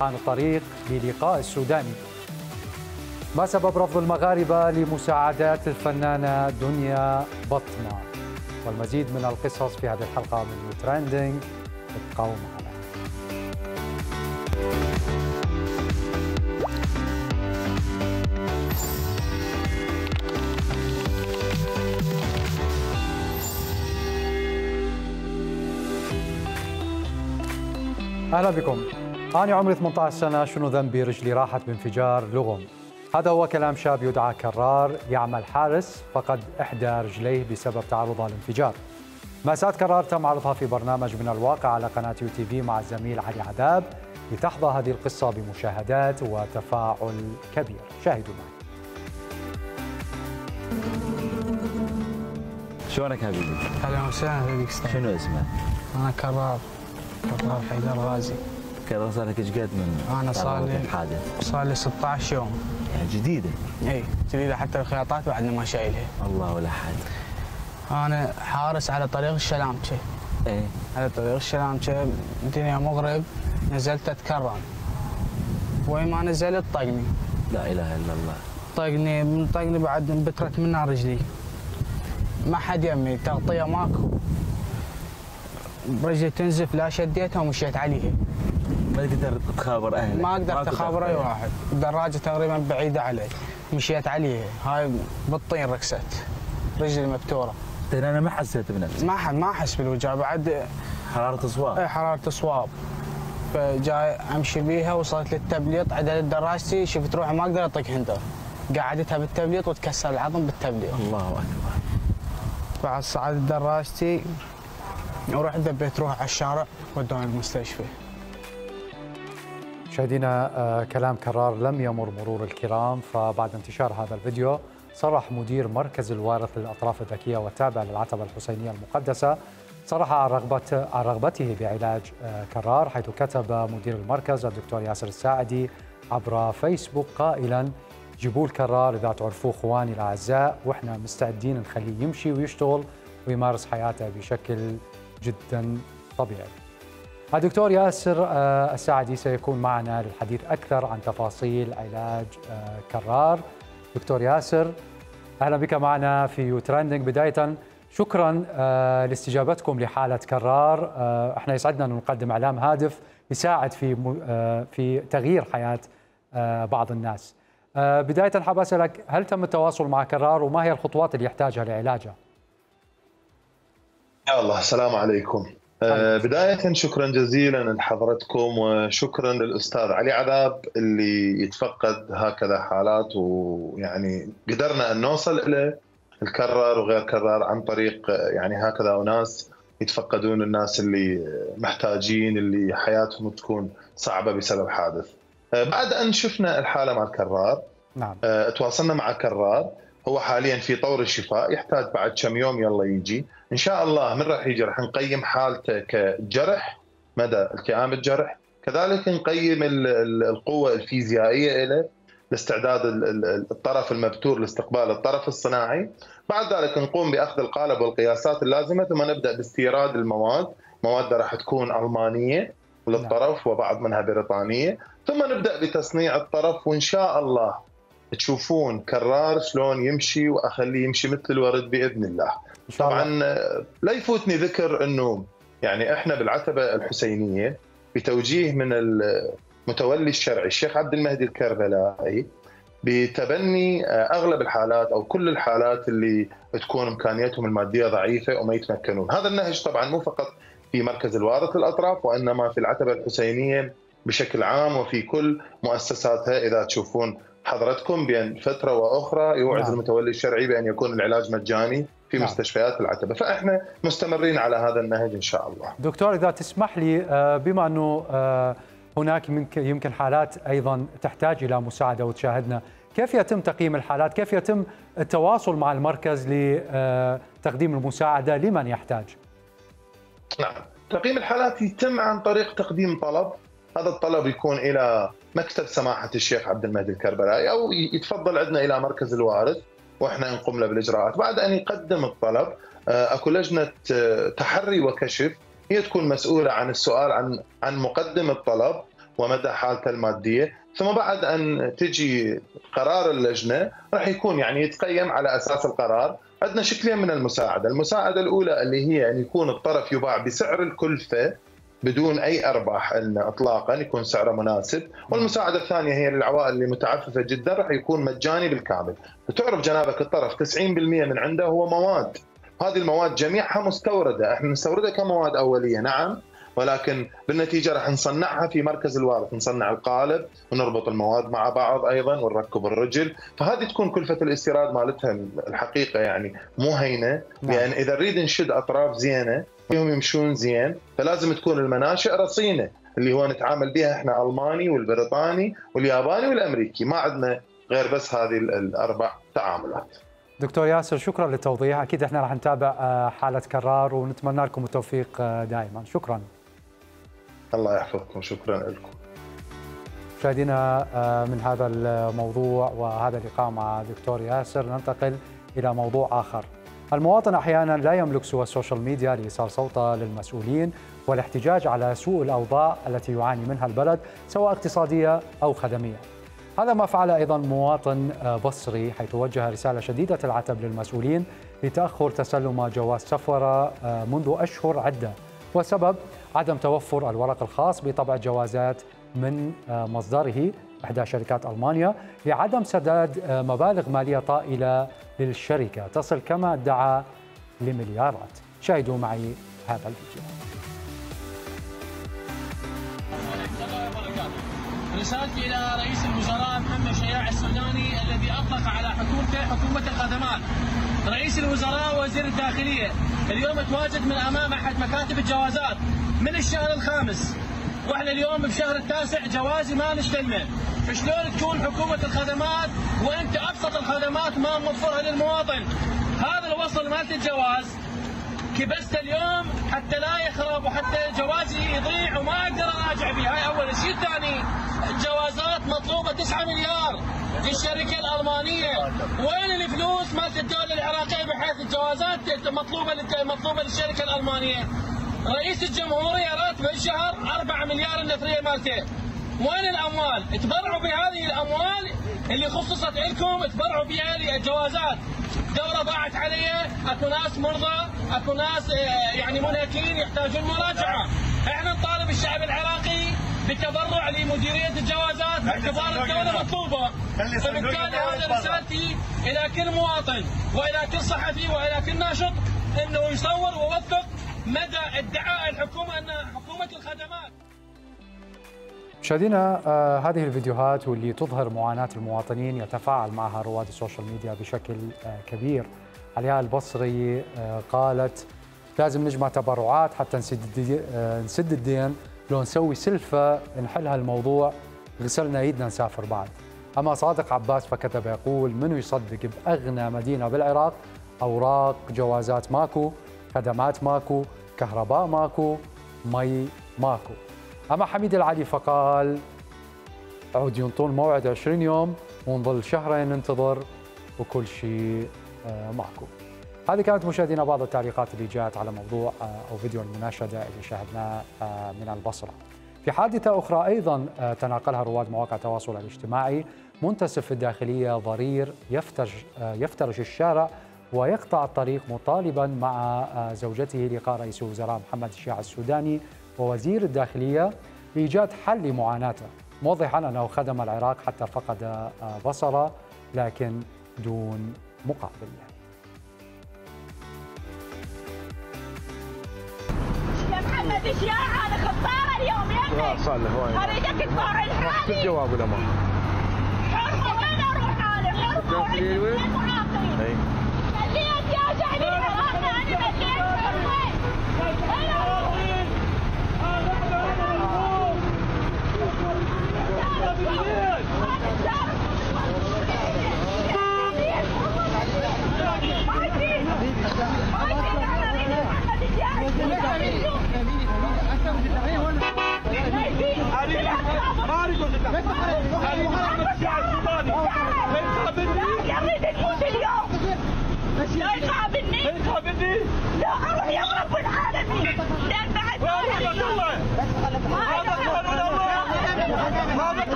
عن الطريق للقاء السوداني. ما سبب رفض المغاربة لمساعدات الفنانة دنيا بطمة؟ والمزيد من القصص في هذه الحلقة من ترندنج، ابقوا معنا. أهلا بكم. أنا عمري 18 سنة، شنو ذنبي رجلي راحت بانفجار لغم. هذا هو كلام شاب يدعى كرار، يعمل حارس، فقد إحدى رجليه بسبب تعرضها للانفجار. مأساة كرار تم عرضها في برنامج من الواقع على قناة UTV مع الزميل علي عذاب، لتحظى هذه القصة بمشاهدات وتفاعل كبير. شاهدوا معي. شلونك حبيبي؟ اهلا وسهلا بك. شنو اسمك؟ انا كرار حيدر غازي. كرار صار لك ايش قد من انا صار لي 16 يوم. يعني جديده؟ اي جديده، حتى الخياطات بعدنا ما شايلها. الله ولا حد. انا حارس على طريق الشلامچه. ايه على طريق الشلامچه، الدنيا مغرب، نزلت اتكرم. وين ما نزلت طقني. لا اله الا الله. طقني بعد انبترت منها رجلي. ما حد يمي، تغطيه ماكو. رجلي تنزف، لا شديتها ومشيت عليها. ما تقدر تخابر اهلك؟ ما قدرت اخابر اي واحد، الدراجه تقريبا بعيده علي، مشيت عليها، هاي بالطين ركست، رجلي مبتوره. انا ما حسيت بنفسي؟ ما احس بالوجع بعد. حراره صواب؟ اي حراره صواب. فجاي امشي بيها، وصلت للتبليط، عدلت دراجتي، شفت روحي ما اقدر اطق هندر، قعدتها بالتبليط وتكسر العظم بالتبليط. الله اكبر. بعد صعدت دراجتي ورحت دبيت روح على الشارع، ودوني المستشفى. مشاهدينا، كلام كرار لم يمر مرور الكرام، فبعد انتشار هذا الفيديو صرح مدير مركز الوارث للأطراف الذكية والتابع للعتبة الحسينية المقدسة، صرح عن رغبته بعلاج كرار، حيث كتب مدير المركز الدكتور ياسر الساعدي عبر فيسبوك قائلا: جيبوا الكرار إذا تعرفوه اخواني الأعزاء، واحنا مستعدين نخليه يمشي ويشتغل ويمارس حياته بشكل جدا طبيعي. الدكتور ياسر الساعدي سيكون معنا للحديث أكثر عن تفاصيل علاج كرار. دكتور ياسر، أهلا بك معنا في ترندنج. بداية شكرا لاستجابتكم لحالة كرار. احنا يسعدنا أن نقدم إعلام هادف يساعد في تغيير حياة بعض الناس. بداية حاب أسألك، هل تم التواصل مع كرار وما هي الخطوات اللي يحتاجها لعلاجه؟ يا الله، السلام عليكم. بداية شكرا جزيلا لحضرتكم، وشكرا للأستاذ علي عذاب اللي يتفقد هكذا حالات، ويعني قدرنا أن نوصل إلى الكرار وغير كرار عن طريق يعني هكذا أناس يتفقدون الناس اللي محتاجين، اللي حياتهم تكون صعبة بسبب حادث. بعد أن شفنا الحالة مع الكرار، نعم، تواصلنا مع كرار. هو حاليا في طور الشفاء، يحتاج بعد كم يوم يلا يجي ان شاء الله. من راح يجي راح نقيم حالته كجرح، مدى التئام الجرح، كذلك نقيم القوه الفيزيائيه له لاستعداد الطرف المبتور لاستقبال الطرف الصناعي. بعد ذلك نقوم باخذ القالب والقياسات اللازمه، ثم نبدا باستيراد المواد. مواد راح تكون المانيه للطرف وبعض منها بريطانيه، ثم نبدا بتصنيع الطرف، وان شاء الله تشوفون كرار شلون يمشي، واخليه يمشي مثل الورد باذن الله. طبعا لا يفوتني ذكر انه يعني احنا بالعتبه الحسينيه بتوجيه من المتولي الشرعي الشيخ عبد المهدي الكربلائي بتبني اغلب الحالات او كل الحالات اللي تكون امكانياتهم الماديه ضعيفه وما يتمكنون. هذا النهج طبعا مو فقط في مركز الوارث للاطراف، وانما في العتبه الحسينيه بشكل عام وفي كل مؤسساتها. اذا تشوفون حضرتكم بين فترة وأخرى يوعد المتولي الشرعي بأن يكون العلاج مجاني في مستشفيات العتبة، فإحنا مستمرين على هذا النهج إن شاء الله. دكتور، إذا تسمح لي، بما أنه هناك يمكن حالات أيضا تحتاج إلى مساعدة وتشاهدنا، كيف يتم تقييم الحالات؟ كيف يتم التواصل مع المركز لتقديم المساعدة لمن يحتاج؟ نعم، تقييم الحالات يتم عن طريق تقديم طلب. هذا الطلب يكون إلى مكتب سماحة الشيخ عبد المهدي الكربلائي، أو يتفضل عندنا إلى مركز الوارث وإحنا نقوم له بالإجراءات. بعد أن يقدم الطلب، أكو لجنة تحري وكشف، هي تكون مسؤولة عن السؤال عن مقدم الطلب، ومدى حالته الماديه، ثم بعد ان تجي قرار اللجنه راح يكون يعني يتقيم على اساس القرار. عندنا شكلين من المساعده، المساعده الاولى اللي هي ان يكون الطرف يباع بسعر الكلفه بدون اي ارباح اطلاقا، يكون سعره مناسب، والمساعده الثانيه هي للعوائل اللي متعففه جدا راح يكون مجاني بالكامل. وتعرف جنابك الطرف 90% من عنده هو مواد، هذه المواد جميعها مستورده، احنا نستوردها كمواد اوليه نعم، ولكن بالنتيجه راح نصنعها في مركز الوارث، نصنع القالب ونربط المواد مع بعض ايضا ونركب الرجل، فهذه تكون كلفه الاستيراد مالتها الحقيقه يعني مو هينه، لان اذا نريد نشد اطراف زينه فيهم يمشون زين فلازم تكون المناشئ رصينه، اللي هو نتعامل بها احنا الماني والبريطاني والياباني والامريكي، ما عندنا غير بس هذه الاربع تعاملات. دكتور ياسر شكرا للتوضيح، اكيد احنا راح نتابع حاله كرار ونتمنى لكم التوفيق دائما. شكرا. الله يحفظكم، شكرا لكم. مشاهدينا من هذا الموضوع وهذا اللقاء مع دكتور ياسر ننتقل الى موضوع اخر. المواطن احيانا لا يملك سوى السوشيال ميديا لايصال صوته للمسؤولين والاحتجاج على سوء الاوضاع التي يعاني منها البلد سواء اقتصاديه او خدميه. هذا ما فعل ايضا مواطن بصري، حيث وجه رساله شديده العتب للمسؤولين لتاخر تسلم جواز سفر منذ اشهر عده، وسبب عدم توفر الورق الخاص بطبع الجوازات من مصدره إحدى شركات ألمانيا لعدم سداد مبالغ مالية طائلة للشركة تصل كما ادعى لمليارات. شاهدوا معي هذا الفيديو. رسالتي إلى رئيس الوزراء محمد شياع السوداني الذي أطلق على حكومته حكومة الخدمات. رئيس الوزراء وزير الداخلية اليوم تواجد من أمام أحد مكاتب الجوازات من الشهر الخامس، واحنا اليوم بشهر التاسع جوازي ما نستلمه، فشلون تكون حكومة الخدمات وانت ابسط الخدمات ما موفرها للمواطن؟ هذا الوصل مالت الجواز كبست اليوم حتى لا يخرب وحتى جوازي يضيع وما اقدر اراجع به، هاي اول شيء. ثاني الجوازات مطلوبه 9 مليار للشركه الالمانيه، وين الفلوس مالت الدوله العراقيه بحيث الجوازات مطلوبه للشركه الالمانيه؟ رئيس الجمهورية راتبه الشهر 4 مليار النفرية مالته، وين الأموال؟ تبرعوا بهذه الأموال اللي خصصت لكم، تبرعوا بها للجوازات. دولة ضاعت عليها، اكو ناس مرضى، اكو ناس يعني منهكين يحتاجون مراجعة. احنا نطالب الشعب العراقي بالتبرع لمديرية الجوازات باعتبار الدولة مطلوبة. فبالتالي هذا رسالتي إلى كل مواطن وإلى كل صحفي وإلى كل ناشط إنه يصور ويوثق مدى ادعاء الحكومة أنها حكومة الخدمات. مشاهدينا هذه الفيديوهات واللي تظهر معاناة المواطنين يتفاعل معها رواد السوشيال ميديا بشكل كبير. علياء البصري قالت لازم نجمع تبرعات حتى نسد الدين، لو نسوي سلفة نحل هالموضوع غسلنا ايدنا نسافر بعد. أما صادق عباس فكتب يقول منو يصدق بأغنى مدينة بالعراق أوراق جوازات ماكو، خدمات ماكو، كهرباء ماكو، مي ماكو. أما حميد العلي فقال عود ينطون موعد 20 يوم ونظل شهرين ننتظر وكل شيء ماكو. هذه كانت مشاهدينا بعض التعليقات اللي جاءت على موضوع أو فيديو المناشدة اللي شاهدناه من البصرة. في حادثة أخرى أيضا تناقلها رواد مواقع التواصل الاجتماعي، منتسب في الداخلية ضرير يفترش الشارع ويقطع الطريق مطالبا مع زوجته لقاء رئيس الوزراء محمد شياع السوداني ووزير الداخلية لإيجاد حل لمعاناته، موضحا أنه خدم العراق حتى فقد بصره لكن دون مقابل. يا محمد شياع أنا خطارة اليوم يمك أريدك تطلع الحالي الجواب ولا ما؟ حرمة وين أروح أنا؟ حرمة وين معاقين؟ مليت يا شعبي العراقي أنا مليت حرمة. لا يقابلني لا اروح يا رب العالمين لا بعد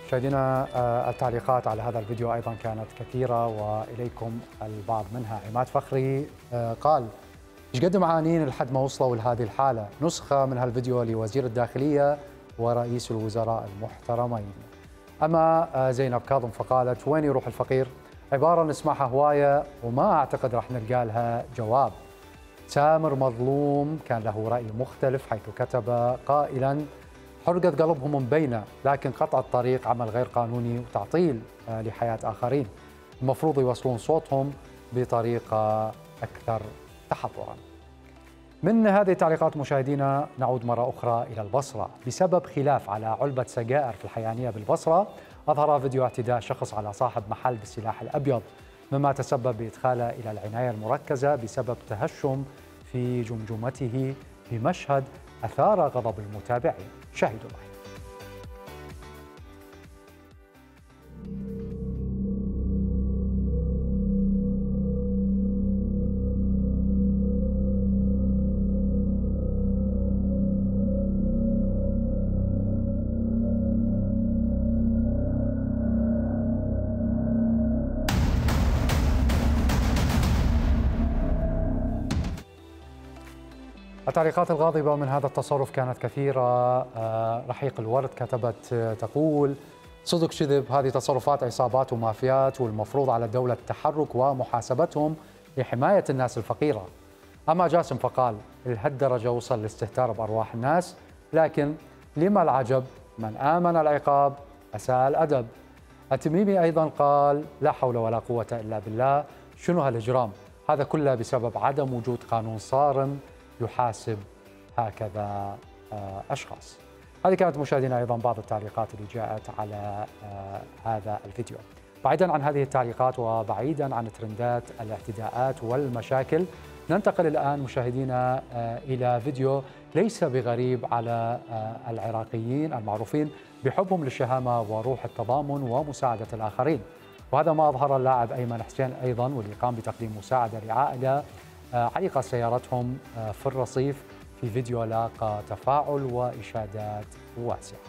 مشاهدينا التعليقات على هذا الفيديو أيضا كانت كثيرة وإليكم البعض منها. عماد فخري قال ايش قد معانين لحد ما وصلوا لهذه الحالة، نسخة من هالفيديو لوزير الداخلية ورئيس الوزراء المحترمين. أما زينب كاظم فقالت وين يروح الفقير؟ عبارة نسمعها هواية وما أعتقد راح نلقى لها جواب. سامر مظلوم كان له رأي مختلف حيث كتب قائلا حرقت قلبهم مبينة، لكن قطع الطريق عمل غير قانوني وتعطيل لحياة آخرين، المفروض يوصلون صوتهم بطريقة أكثر تحضرا. من هذه التعليقات مشاهدينا نعود مرة أخرى إلى البصرة. بسبب خلاف على علبة سجائر في الحيانية بالبصرة، أظهر فيديو اعتداء شخص على صاحب محل بالسلاح الأبيض، مما تسبب بإدخاله إلى العناية المركزة بسبب تهشم في جمجمته بمشهد أثار غضب المتابعين. شاهدوا معي. التعليقات الغاضبة من هذا التصرف كانت كثيرة. رحيق الورد كتبت تقول صدق كذب، هذه تصرفات عصابات ومافيات والمفروض على الدولة التحرك ومحاسبتهم لحماية الناس الفقيرة. أما جاسم فقال لهالدرجة وصل لاستهتار بأرواح الناس، لكن لما العجب من آمن العقاب أساء الأدب. التميمي أيضا قال لا حول ولا قوة إلا بالله، شنو هالإجرام؟ هذا كله بسبب عدم وجود قانون صارم يحاسب هكذا أشخاص. هذه كانت مشاهدينا أيضا بعض التعليقات اللي جاءت على هذا الفيديو. بعيدا عن هذه التعليقات وبعيدا عن ترندات الاعتداءات والمشاكل، ننتقل الآن مشاهدينا إلى فيديو ليس بغريب على العراقيين المعروفين بحبهم للشهامة وروح التضامن ومساعدة الآخرين، وهذا ما أظهر اللاعب أيمن حسين أيضا، واللي قام بتقديم مساعدة لعائلة علق سيارتهم في الرصيف في فيديو لاقى تفاعل وإشادات واسعة.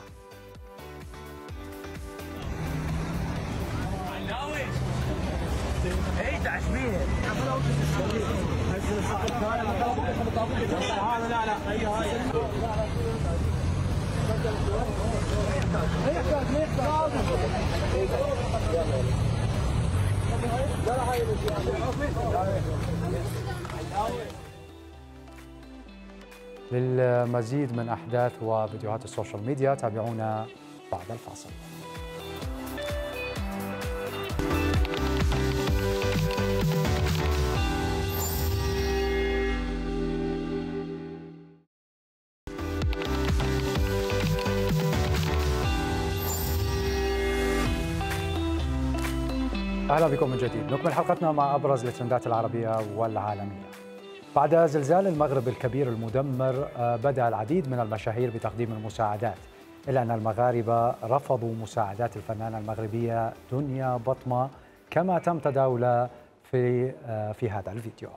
للمزيد من أحداث وفيديوهات السوشيال ميديا تابعونا بعد الفاصل. أهلا بكم من جديد. نكمل حلقتنا مع أبرز الترندات العربية والعالمية. بعد زلزال المغرب الكبير المدمر بدأ العديد من المشاهير بتقديم المساعدات، إلا أن المغاربة رفضوا مساعدات الفنانة المغربية دنيا بطمة كما تم تداولها في هذا الفيديو.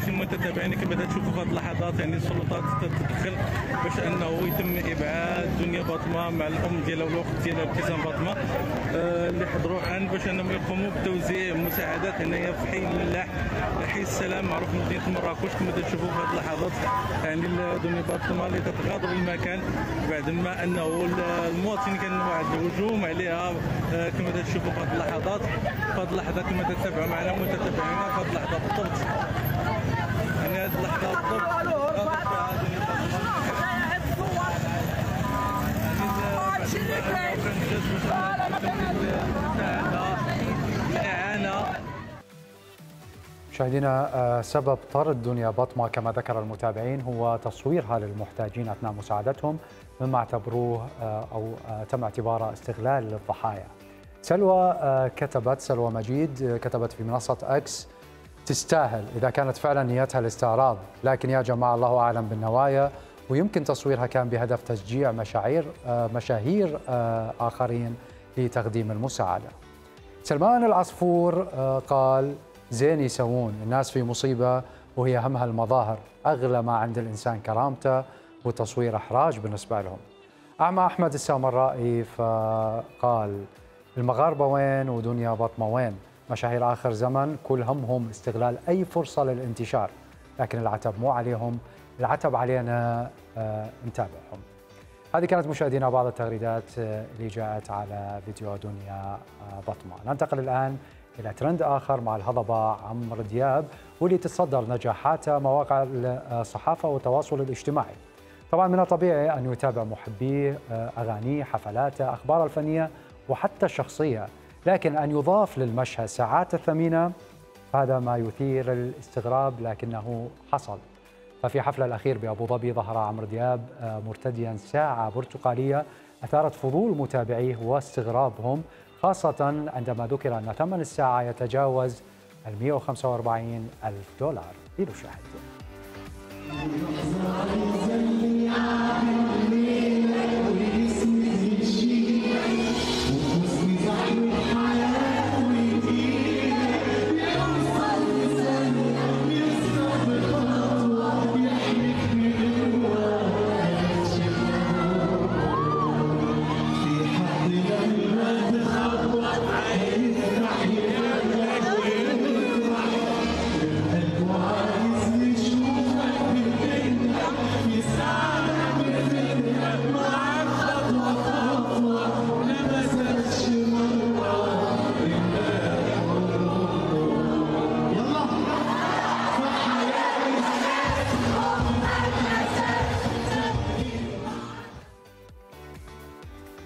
متابعينك بدأت تشوفوا في هذه اللحظات يعني السلطات تتدخل باش انه يتم ابعاد دنيا بطمه مع الام ديالها والوقت ديالها ابتسام بطمه اللي يحضروا عن باش انهم يقوموا بتوزيع مساعدات هنايا في حي الملاح، حي السلام معروف مدينه مراكش. كما تشوفوا في هذه اللحظات يعني دنيا باطمه اللي تتغادر المكان بعد ما انه المواطنين كان واحد الهجوم عليها. كما تشوفوا في هذه اللحظات، كما تتابعوا معنا متتابعينا في هذه اللحظه بالضبط. يعني هذه اللحظه بالضبط مشاهدينا، سبب طرد دنيا باطمة كما ذكر المتابعين هو تصويرها للمحتاجين أثناء مساعدتهم، مما اعتبروه أو تم اعتباره استغلال للضحايا. سلوى مجيد كتبت في منصة إكس: تستاهل إذا كانت فعلا نيتها الاستعراض، لكن يا جماعة الله أعلم بالنوايا، ويمكن تصويرها كان بهدف تشجيع مشاهير آخرين لتقديم المساعدة. سلمان العصفور قال: زين يسوون، الناس في مصيبة وهي همها المظاهر، أغلى ما عند الإنسان كرامته، وتصوير إحراج بالنسبة لهم. أعمى أحمد السامرائي فقال: المغاربة وين ودنيا باطمة وين؟ مشاهير آخر زمن كل همهم استغلال أي فرصة للانتشار، لكن العتب مو عليهم، العتب علينا نتابعهم. هذه كانت مشاهدينا بعض التغريدات اللي جاءت على فيديو دنيا باطمة. ننتقل الآن إلى ترند آخر مع الهضبة عمرو دياب، واللي تتصدر نجاحاته مواقع الصحافة والتواصل الاجتماعي. طبعا من الطبيعي أن يتابع محبيه أغانيه، حفلاته، أخباره الفنية وحتى الشخصية، لكن أن يضاف للمشهد ساعات الثمينة هذا ما يثير الاستغراب، لكنه حصل. ففي حفله الأخير بأبو ظبي ظهر عمرو دياب مرتديا ساعة برتقالية أثارت فضول متابعيه واستغرابهم، خاصة عندما ذكر أن ثمن الساعة يتجاوز $145,000. لنشاهد.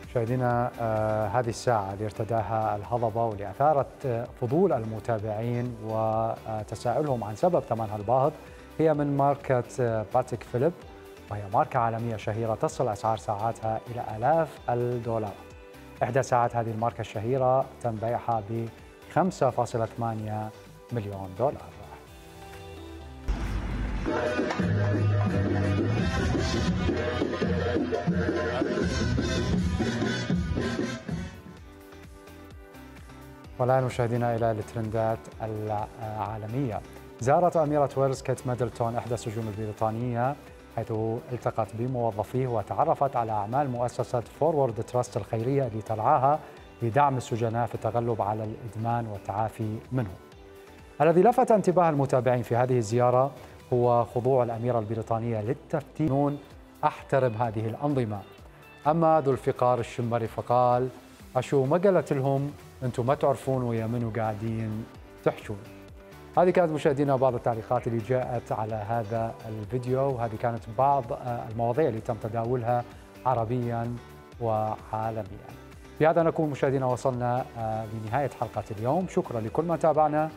مشاهدينا، هذه الساعة اللي ارتداها الهضبة واللي أثارت فضول المتابعين وتساؤلهم عن سبب ثمنها الباهظ هي من ماركة باتيك فيليب، وهي ماركة عالمية شهيرة تصل أسعار ساعاتها إلى آلاف الدولارات. إحدى ساعات هذه الماركة الشهيرة تم بيعها ب $5.8 مليون. والآن مشاهدينا إلى الترندات العالمية. زارت أميرة ويلز كيت ميدلتون إحدى السجون البريطانية، حيث التقت بموظفيه وتعرفت على أعمال مؤسسة فورورد تراست الخيرية اللي ترعاها لدعم السجناء في التغلب على الإدمان والتعافي منه. الذي لفت انتباه المتابعين في هذه الزيارة هو خضوع الأميرة البريطانية للتفتيش. أحترم هذه الأنظمة. أما ذو الفقار الشمري فقال: أشو ما قالت لهم أنتم ما تعرفون ويا منو قاعدين تحشون. هذه كانت مشاهدينا بعض التعليقات اللي جاءت على هذا الفيديو، وهذه كانت بعض المواضيع اللي تم تداولها عربيا وعالميا. بهذا نكون مشاهدينا وصلنا لنهاية حلقة اليوم. شكرا لكل من تابعنا،